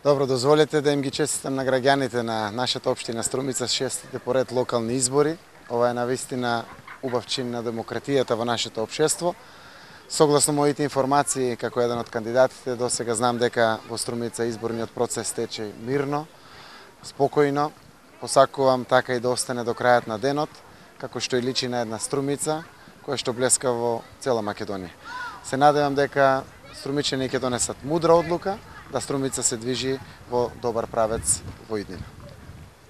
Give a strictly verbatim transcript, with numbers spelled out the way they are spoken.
Добро, дозволете да им ги честитам на граѓаните на нашата општина Струмица шестите поред локални избори. Ова е навистина убав чин на демократијата во нашето општество. Согласно моите информации, како еден од кандидатите, до сега знам дека во Струмица изборниот процес тече мирно, спокојно. Посакувам така и да остане до крајот на денот, како што и личи на една Струмица, која што блеска во цела Македонија. Се надевам дека струмичани ќе донесат мудра одлука, да Струмица се движи во добар правец во иднина.